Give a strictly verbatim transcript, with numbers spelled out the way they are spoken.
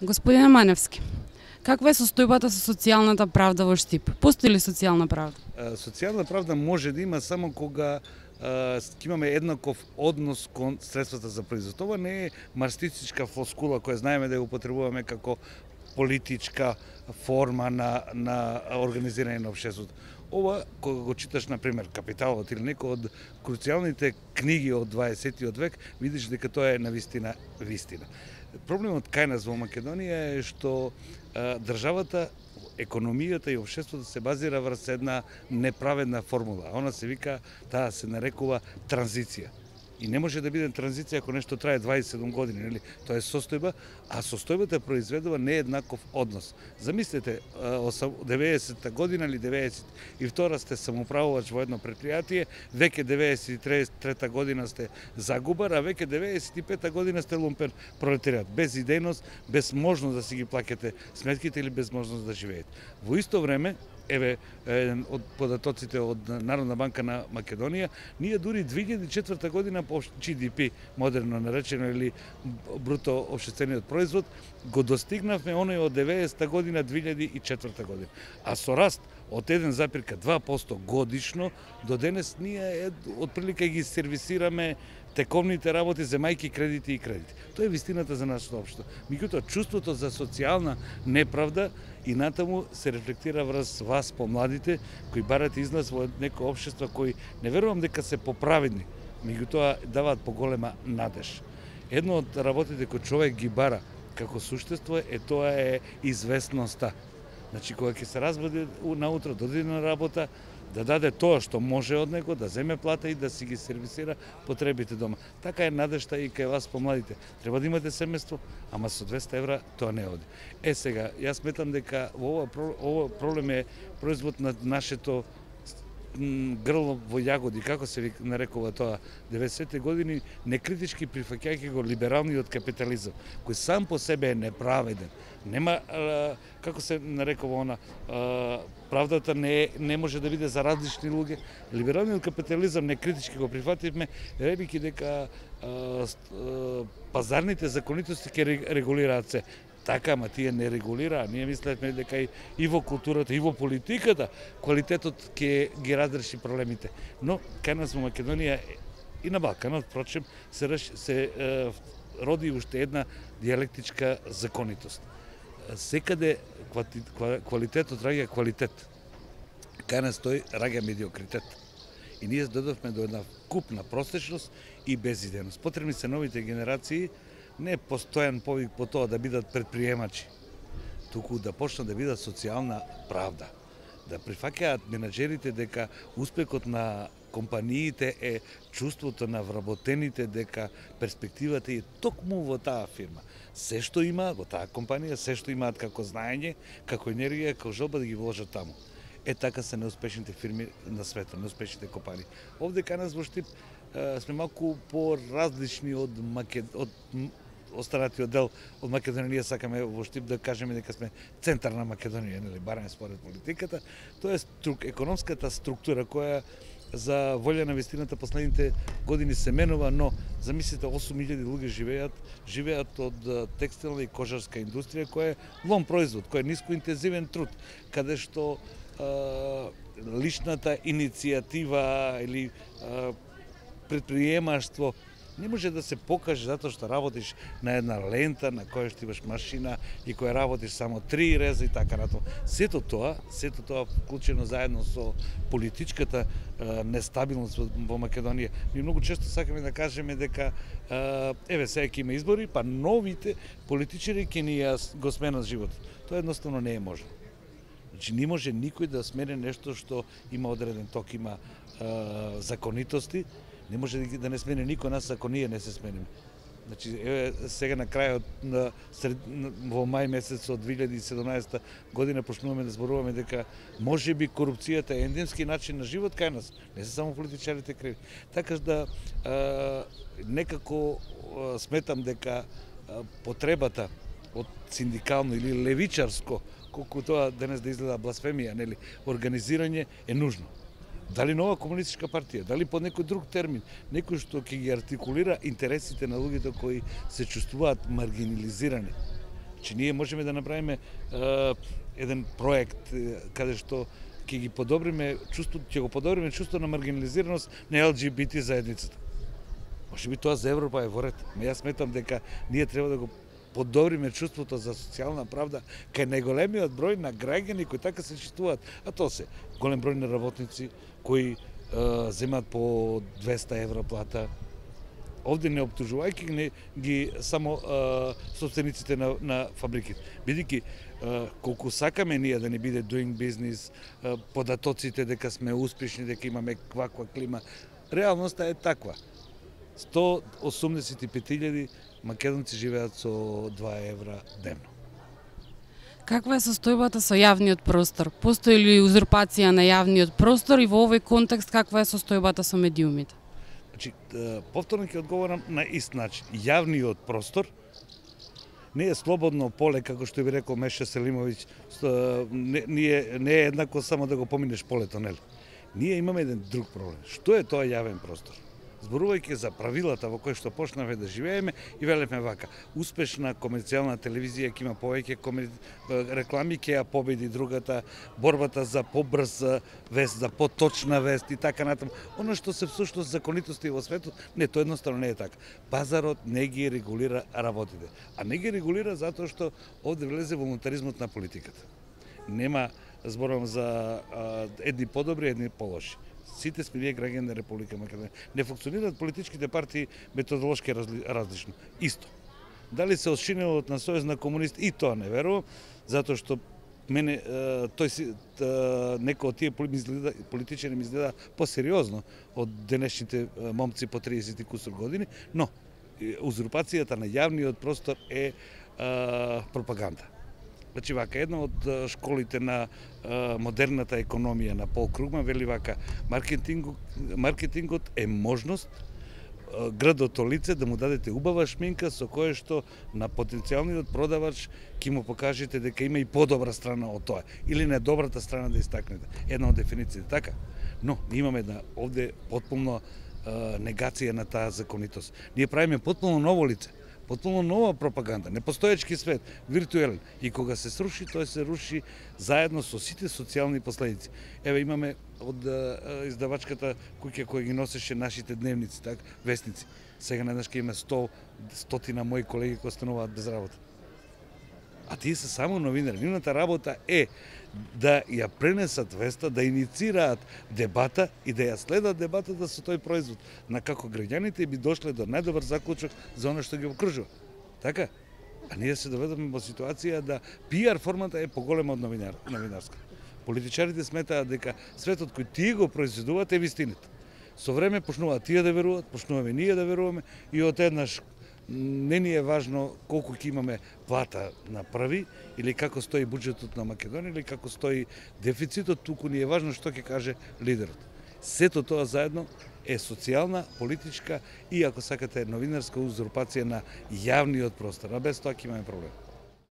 Господине Маневски, каква е состојбата со социјалната правда во Штип? Постои ли социјална правда? Социјална правда може да има само кога ќе имаме еднаков однос кон средствата за производ. Ова не е марксистичка флоскула која знаеме да ја употребуваме како политичка форма на, на организирање на општеството. Ова, кога го читаш, например, Капиталот или некој од круцијалните книги од дваесеттиот век, видиш дека тоа е навистина вистина. Проблемот кај нас во Македонија е што а, државата, економијата и општеството се базира врз една неправедна формула. Она се вика, таа се нарекува транзиција. И не може да биде транзиција ако нешто трае дваесет и седум години, нели? Тоа е состојба, а состојбата произведува нееднаков однос. Замислете, деветдесетта година или деветдесет и втора сте самоуправувач во едно предпријатие, веќе деветдесет и трета година сте загубар, а веќе деветдесет и пета година сте лумпен пролетаријат, без идејност, без можност да си ги плаќате сметките или без можност да живеете. Во исто време, еве, од податоците од Народна банка на Македонија, ние дури две илјади и четврта година по Джи Ди Пи, модерно наречено, или бруто општествениот производ, го достигнавме оној од деветдесетта година, две илјади и четврта година. А со раст од еден запирка два посто годишно, до денес ние отприлика ги сервисираме тековните работи, земајки кредити и кредити. Тоа е вистината за нашето општество. Меѓутоа, чувството за социјална неправда и натаму се рефлектира врз вас, помладите, кои барате излаз во некој општество кои не верувам дека се поправедни, меѓутоа даваат поголема надеж. Едно од работите кои човек ги бара како суштество е тоа е известноста. Значи, кога ќе се разбуди наутро, дојде на работа, да даде тоа што може од него, да земе плата и да си ги сервисира потребите дома. Така е надежта и кај вас помладите. Треба да имате семејство, ама со двеста евра тоа не оди. Е сега, јас сметам дека ова, ова проблем е производ на нашето грло во јагоди, како се нарекува тоа, деветдесетте години, некритички прифаќајќи го либералниот капитализам, кој сам по себе е неправеден. Нема, како се нарекува она, правдата не, не може да биде за различни луѓе. Либералниот капитализам некритички го прифативме, ребики дека пазарните законитости ќе регулираат се. Така, ама тие не регулираа. Ние мислевме дека и во културата, и во политиката, квалитетот ќе ги разреши проблемите. Но, кај нас во Македонија и на Балканот, впрочем, се, се е, роди уште една диалектичка законитост. Секаде квалитетот раѓа квалитет. Кај нас тој раѓа медиокритет. И ние додовме до една купна простечност и безидејност. Потребни се новите генерации, не постојан повик по тоа да бидат предприемачи, туку да почнат да бидат социјална правда. Да прифаќаат менаџерите дека успехот на компаниите е чувството на вработените, дека перспективата е токму во таа фирма. Се што има во таа компанија, се што имаат како знаење, како енергија, како желба да ги вложат таму. Е, така се неуспешните фирми на светот, неуспешните компании. Овде кај нас во Штип сме малку по-различни од Макед... од останатиот дел од Македонија. Ние сакаме во Штип да кажеме дека сме центар на Македонија, нели, барем според политиката. Тоа е струк, економската структура која за волја на вистината последните години се менува, но замислите осум илјади луѓе живеат, живеат од текстилна и кожарска индустрија која е лом производ, која е нискоинтензивен труд, каде што а, личната иницијатива или а, предприемаштво не може да се покаже затоа што работиш на една лента на која што имаш машина и која работиш само три реза и така натаму. Сето тоа, сето тоа вклучено заедно со политичката е, нестабилност во Македонија. Ми многу често сакаме да кажеме дека е, еве сега ќе има избори, па новите политичари ќе ни ја го сменат животот. Тоа едноставно не е можно. Значи не може никој да смени нешто што има одреден ток, има е, законитости. Не може да не смени никој нас ако ние не се смениме. Значи, еве, сега на крајот на сред, во мај месец од две илјади и седумнаесетта година почнуваме да зборуваме дека може би корупцијата е ендемски начин на живот кај нас, не се само политичарите криви. Така да а, некако а, сметам дека а, потребата од синдикално или левичарско, колку тоа денес да изгледа бласфемија, нели, организирање е нужно. Дали нова комунистичка партија, дали под некој друг термин, некој што ќе ги артикулира интересите на луѓето кои се чувствуваат маргинализирани. Значи ние можеме да направиме е, еден проект е, каде што ќе ги подобриме чувство, ќе го подобриме чувство на маргинализираност на Ел Џи Би Ти заедницата. Може би тоа за Европа е во ред. Јас сметам дека ние треба да го подобриме чувството за социјална правда кај најголемиот број на граѓани кои така се чувствуваат, а тоа се голем број на работници кои е, земаат по двеста евра плата. Овде не обтужувајќи ги, ги само е, собствениците на, на фабриките. Бидејќи колку сакаме ние да не биде doing business, е, податоците дека сме успешни, дека имаме ваква клима, реалноста е таква. сто осумдесет и пет илјади македонци живеат со два евра дневно. Каква е состојбата со јавниот простор? Постои ли узурпација на јавниот простор и во овој контекст каква е состојбата со медиумите? Значи, повторно ќе одговорам на ист начин. Јавниот простор не е слободно поле, како што би рекол Меша Селимовиќ, не, не, не е еднакво само да го поминеш полето, нели? Ние имаме еден друг проблем. Што е тоа јавен простор? Зборувајќи за правилата во кои што почнавме да живееме и велевме вака, успешна комерцијална телевизија ќе има повеќе комер... реклами, ќе ја победи другата, борбата за побрз вест, за поточна вест и така натаму. Оно што се всушност законитости во светот, не, тоа едноставно не е така. Пазарот не ги регулира работите, а не ги регулира затоа што овде влезе волунтаризмот на политиката. Нема, зборувам за а, едни подобри, едни полоши. Сите сме ние граѓани на Република Македонија. Не функционираат политичките партии методолошки разли, различно. Исто. Дали се од шинелот на Сојуз на комунисти, и тоа не верувам, затоа што мене тој си некој од тие политичари ми изгледа посериозно од денешните момци по триесет и кусур години, но узурпацијата на јавниот простор е а, пропаганда. Значи вака, една од школите на а, модерната економија на Пол Кругман вели вака, маркетингот, маркетингот е можност а, градото лице да му дадете убава шминка со кое што на потенцијалниот продавач ќе му покажете дека има и подобра страна од тоа или не добрата страна да истакнете. Една од дефинициите така. Но ние имаме една овде потполно а, негација на таа законитост. Ние правиме потполно ново лице. Потполно нова пропаганда, непостоечки свет, виртуелен. И кога се сруши, тој се руши заедно со сите социјални последици. Еве имаме од а, издавачката куќа која ги носеше нашите дневници, так, вестници. Сега наеднаш ќе има сто, стотина мои колеги кои остануваат без работа. А тие се само новинари. Нивната работа е да ја пренесат веста, да иницираат дебата и да ја следат дебатата со тој производ, на како граѓаните би дошле до најдобар заклучок за оно што ги окружува. Така? А ние се доведоме во ситуација да пиар формата е поголема од новинар, новинарска. Политичарите сметаат дека светот кој тие го произведуваат е вистината. Со време почнуваат тие да веруваат, почнуваме ние да веруваме и од еднаш не ни е важно колку ќе имаме плата на први или како стои буџетот на Македонија или како стои дефицитот, туку ни е важно што ќе каже лидерот. Сето тоа заедно е социјална, политичка и ако сакате новинарска узурпација на јавниот простор, а без тоа ќе имаме проблем.